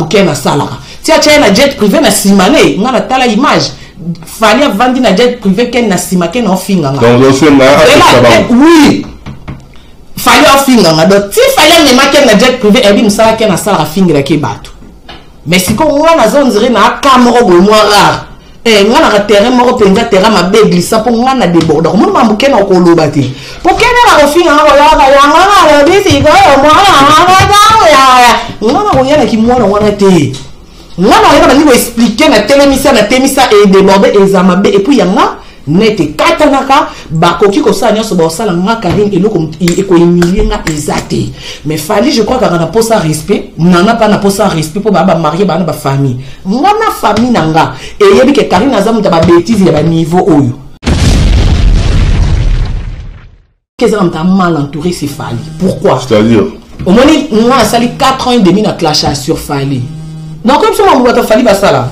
Ken asalaka ti atya ye na jet privé na nsima ne nga natala image Fally avandi na jet privé Ken na nsima Ken aofinga nga oui Fally aofinga nga donc ti Fally amema Ken na jet privé eyebi mosala Ken asalaka afingelaki bato mais sikoyo nga naza ondire na aka moko boye mwa rare Eh, nga naka terrain moko mpenza terrain mabe glissant mpo nga na debordaka omoni mambo kena okoloba te mpo kena na kofinga nga koyaka yango nalobi sikoyo mwana nga na koya na kimwana wana te nga na koya na bandi koexplike na telemisa na temisa edeborde eza mabe epuis yanga net ekatanaka bakoki kosala nyonso bakosala nga karine eloko ekohumilie nga eza te mais fali je crois kaka na posa respect nana mpa na posa respect mpo baa bamarie baa na bafamille nga na famille na nga eyebi ke karine aza moto ya babétise ya baniveau oyo eza na moto ya mal entouré c'est fali pourquoi c'est-à-dire omoni nga asali 4 ans et demi na clash sur fali donc biso mambo bato fali basala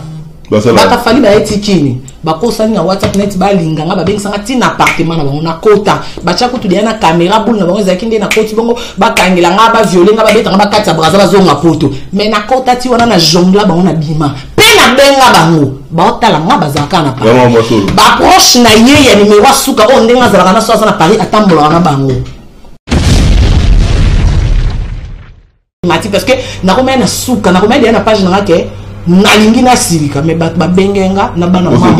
bato fali baye tikini bakosani na whatsapp neti balinga nga babengisanga ntina appartement na bango nakota batya kutu deya na caméra boule na bango ezalaki nde nakoti bongo bakangela nga baviole nga babeta nga bakati ya braza bazonga poto mais nakota ti wana na jongla bango na bima mpe nabenga bango baotala nga bazalaka na paris baproche na ye ya nimero ya suka oyo ndenge azalaka na so aza na paris atambolaka na bango mati parce que nakomaya na suka nakomaya deya na page na nga ke nalingi nasilika mais bato babenge nga na bana mama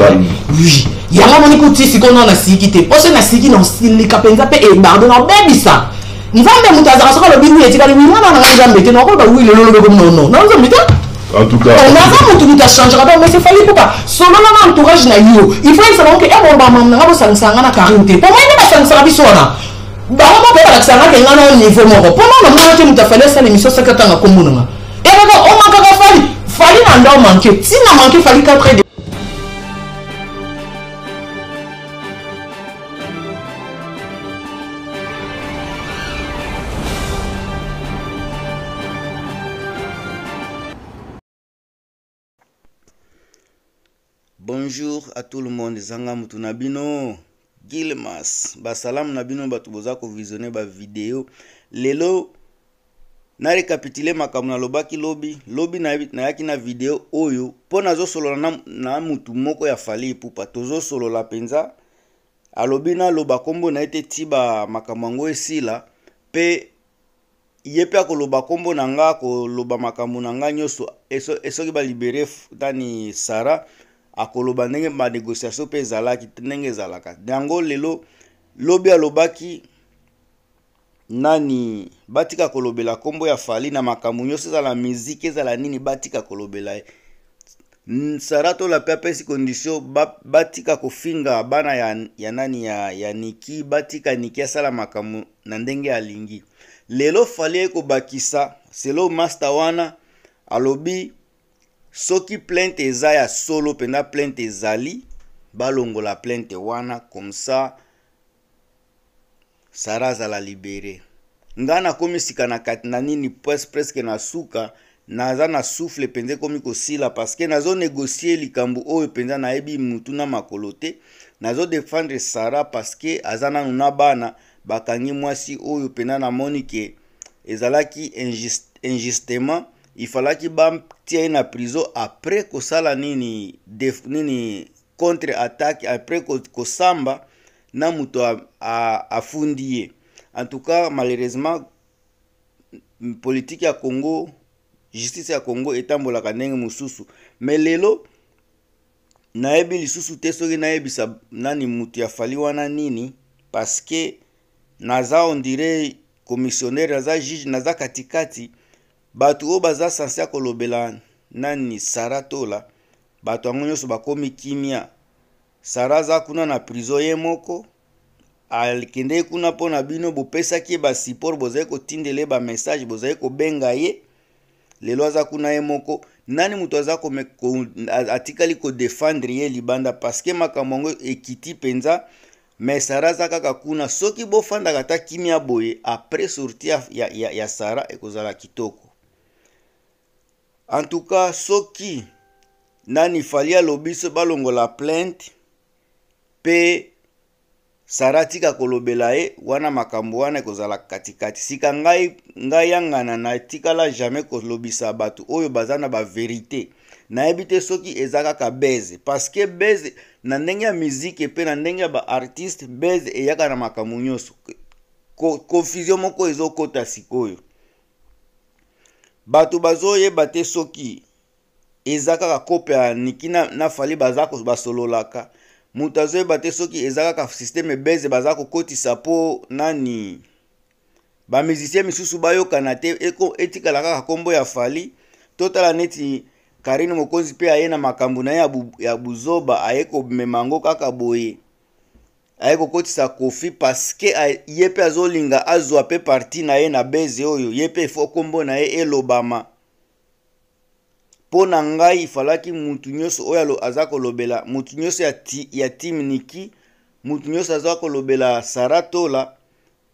oui yango amoni kuti sikoyo nao nasiliki te mposo nasiliki na osilika mpenza mpe ebardo na obebisa nzambe moto azalaka soki alobi wi etikali wi mwana na nga nzambe te nakoloba wi lelo olobeko nono na nzambe te En tout cas, naza motu moto achangera donc mais c'est Fally Ipupa solola na entourage na yo il faut yebisa bango ke ebomba mama na nga bosangisaka nga na Karine te po ngai nde basangisaka biso wana bango moko balakisa nga ke nga na niveau moko mpo nga namona te moto afali asala émission soki atanga nkombo na nga ekaka omakaka fali fali na nda omanke ntina manke fali 4 Bonjour à tout le monde, zanga mutu na bino Gilmas, ba salam na bino batu boza ko visionner ba vidéo. Lelo na récapituler makambo nalobaki lobi, lobi nayaki na vidéo oyo mpo nazosolola na, na mutu moko ya Fally Ipupa, tozosolola mpenza alobi naloba nkombo na ye te ti ba makambo yango esila mpe ye mpe akoloba nkombo na nga akoloba makambo na nga nyonso soki balibere nani sara akoloba ndenge banégociation mpe ezalaki ndenge ezalaka yango lelo lobi alobaki nani batika kolobela nkombo ya fali na makambo nyonso ezala miziki ezala nini batika kolobela ye Sarah Tola pe apesi condition batika kofinga bana ya, ya nani ya, ya Niki, batika Niki asala makambo na ndenge alingi. Lelo Fally aye kobakisa selo master wana alobi soki plainte eza ya solo mpenza plainte ezali balongola plainte wana comme ça Sarah azala libere. Nga nakomi sika na kati na nini presque na suka naza na souffle mpenza ekomi kosila parce que nazo negocier likambo oyo mpenza nayebi mutu na makolo te nazo defendre Sarah parce que aza nanu na bana bakangi mwasi oyo mpenza namoni ke ezalaki injustement il fallaki batia ye na prison après kosala nini def, nini contre attaque après kosamba na moto afundi ye en tout cas malheureusement politique ya Congo justice ya Congo etambolaka ndenge mosusu mais lelo nayebi lisusu te soki nayebisa nani moto ya fali wana nini parce que naza on dirait commissionnaire naza juge naza katikati bato oyo baza sense ya kolobela nani Sarah Tola bato yango nyonso bakomi kimia Sarah aza kuna na prison ye moko akendeki kuna mpo na bino bopesaki ye ba support bozali kotindela ye ba message bozali kobenga ye lelo aza kuna ye moko nani moto aza ko, ko, atikali kodefendre ye libanda parceke makambo yango ekiti mpenza mais Sarah aza kaka kuna soki bofandaka ata kimia boye après sortie ya, ya, ya, ya Sarah ekozala kitoko En tout cas soki nani Fally alobi so balongola plainte pe Sara tika kolobela ye wana makambo wana ekozala katikati. Sika ngai ngai yangana natikala jamais kolobisa bato oyo baza na ba verite. Nayebi te soki eza kaka buzz parce que buzz na ndenge ya musique pe na ndenge ya ba artiste buzz eyaka na makambo nyonso. Confusion moko ezokota sikoyo. Bato bazoyeba te soki eza kaka kope ya Niki na Fally baza basololaka. Moto azoyeba te soki eza kaka systeme buzz baza kokotisa po nani ba musicien misusu bayokana te, etikala kaka kombo ya Fally. Totala neti Karine Mokonzi pe aye na makambo na ye ya buzoba, aye komema yango kaka boye, aye kokotisa Koffi parce que ye pe azolinga azwa pe parti na ye na buzz oyo, ye pe faut kombo na ye elobama. Mpo na ngai ifalaki mutu nyonso oyo aza kolobela, mutu nyonso ya team Niki, mutu nyonso aza kolobela Sarah Tola,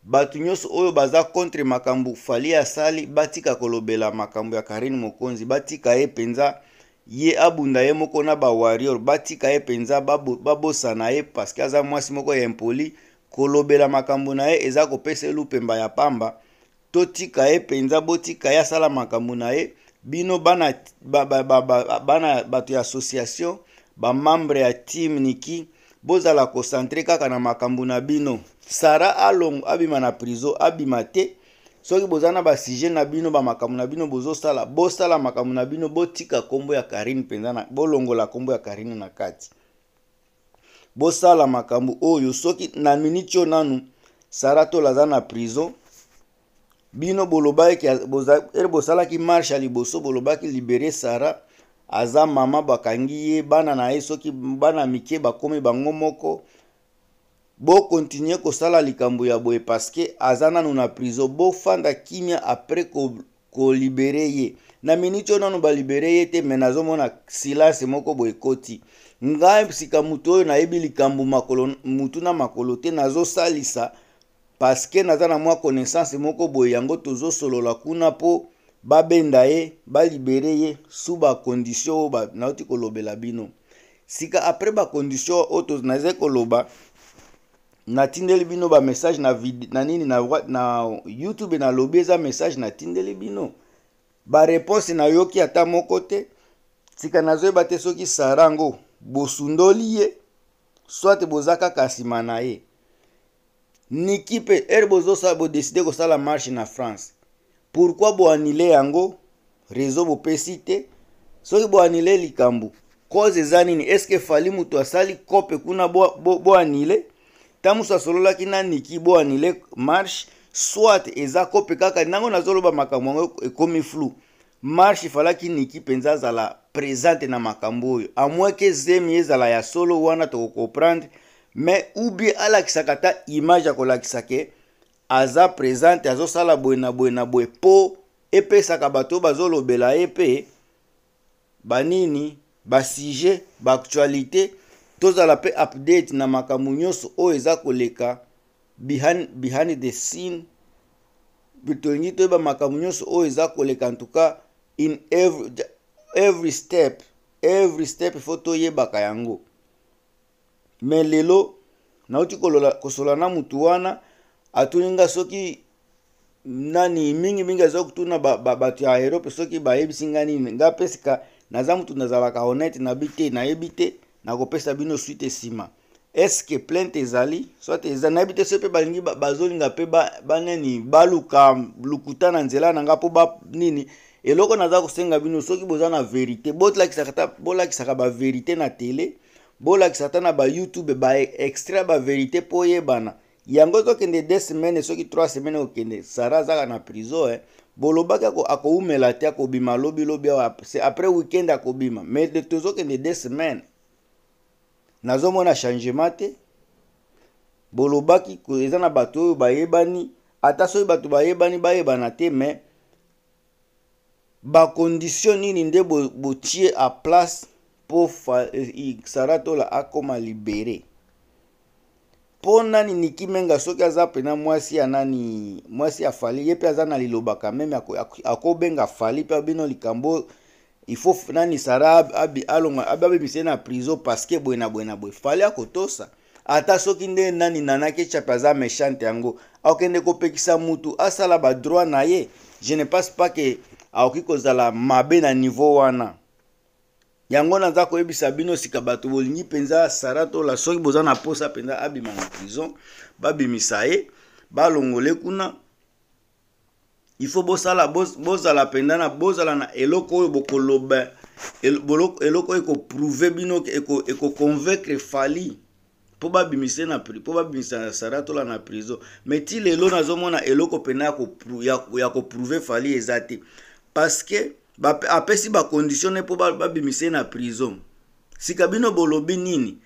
bato nyonso oyo baza contre makambo Fally asali, batika kolobela makambo ya Karine Mokonzi, batika ye mpenza, ye abunda ye moko na ba warrior, batika ye mpenza, babosana ye parce que aza mwasi moko ya impoli. Kolobela makambo na ye eza kopesa ye lupemba ya pamba. Totika ye mpenza, botika ye asala makambo na ye. Bino bana bato ya association, ba membre ya team Niki, bozala concentré kaka na makambo na bino. Sarah alongo abima na prison, abima te. Soki boza na ba sujet na bino, ba makambo na bino bozosala, bosala makambo na bino, botika kombo ya Karine mpenza na, bolongola kombo ya Karine na kati. Bosala makambo oyo soki na minute oyo nanu Sarah Tola aza na prison. Bino bolobaki, ere bosalaki marche ya liboso, bolobaki libérer Sarah, aza mama bakangi ye, bana na ye soki bana mike bakomi bango moko. Bo continuer kosala likambo ya boye parce que aza nanu na prison. Bofanda kimia après ko libérer ye. Na minute oyo nanu ba libérer ye te, mais nazomona silence moko boye ekoti. Ngai sika moto oyo nayebi likambo makolo, mutu na makolo te, nazosalisa parce que naza na mwa connaissance moko boye, yango tozosolola kuna po babenda ye, ba libérer ye sous ba condition oyo nauti kolobela bino. Sika après ba condition oyo nazali koloba, natindeli bino ba message na na nini, na na YouTube, na lobi eza message natindeli bino. Ba réponse nayoki ata moko te. Sika nazoyeba te soki Sarah ngo bosundoli ye, soit boza kaka nsima na ye. Niki pe, ere bozosala, bo décider kosala marche na France. Pourquoi bo annuler yango? Réseau bopesi te. Soki bo annuler likambo, cause eza nini? Est-ce que Fally mutu asali kope kuna bo annuler? Tango musu asololaki na Niki bo annuler marche, soit eza kope kaka nango nazoloba makambo yango ekomi flou. Marche falaki Niki penza azala présente na makambo oyo. À moins que zemi ezala ya solo wana toko comprendre, mais ou bien alakisaka ata image ya kolakisa ke aza présente, azosala boye na boye na boye po epesaka bato bazolobela ye pe banini, ba sujet, ba actualité, tozala pe update na makambo nyonso oyo eza koleka behind the scene. Tolingi toyeba makambo nyonso oyo eza koleka, en tout cas in every step, every step il faut toyebaka yango. Mais lelo nauti kosola na mutu wana, atuni nga soki nani mingi mingi aza kotuna bato ya Europe soki bayebisi nga nini. Nga pe sika naza mutu nazalaka honnête, nabi te, nayebi te, nakopesa bino suite nsima. Est-ce que plainte ezali? Soit eza, nayebi te soki pe balingi bazolinga pe banani, baluka lukuta na nzela na nga po ba nini. Eloko naza kosenga bino soki boza na vérité, bolakisaka ba vérité na télé, bolakisaka ata na ba YouTube ba extrait ba vérité po oyebana. Yango ezokende 2 semaines soki 3 semaines okende, Sarah azaka na prison, eh. Bolobaki akoumela te, akobima lobi lobi awa, c'est après week-end akobima. Mais de tozokende 2 semaines. Nazomona changement te. Bolobaki ko eza na bato oyo bayebani, ata soki bato bayebani bayebana te, mais ba condition nini nde botie à place po Sarah Tola akoma libéré? Po nani Niki Menga soki aza pena mwasi ya nani, mwasi ya Fally, ye pe aza na liloba quand même, akobenga Fally pe abino likambo, il faut nani Sarah alonga, abimisa ye na prison parce que boye na boye na boye. Fally akotosa. Ata soki nde nani Nana Ketchup aza mechante yango, akokende kopekisa mutu asala ba droit na ye? Je ne pense pas que akoki kozala mabe na niveau wana. Yango naza koyebisa bino sika, bato bolingi mpenza Sarah Tola, soki boza na posa mpenza abima na prison, babimisa ye, balongole kuna, il faut bosala, bozala mpenza na, bozala na eloko oyo bokoloba, eloko oyo ekoprouve bino, ekoconvaincre Fally mpo babimisa na mpo babimisa Sarah Tola na prison. Mais ti lelo nazomona eloko mpenza ya koprouve Fally eza te, parce que apesi bacondition ne mpo babimisa ye na prison. Sika bino bolobi nini?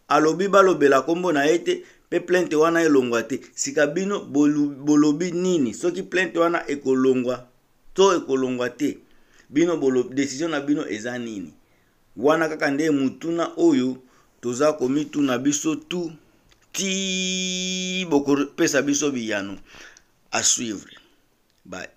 Alobi balobela nkombo na ye te mpe plainte wana elongwa te. Sika bino bolobi nini? Soki plainte wana ekolongwa to ekolongwa te, bino décision na bino eza nini? Wana kaka nde mutuna oyo toza komituna biso tu ti bokopesa biso biyano. À suivre. Bye.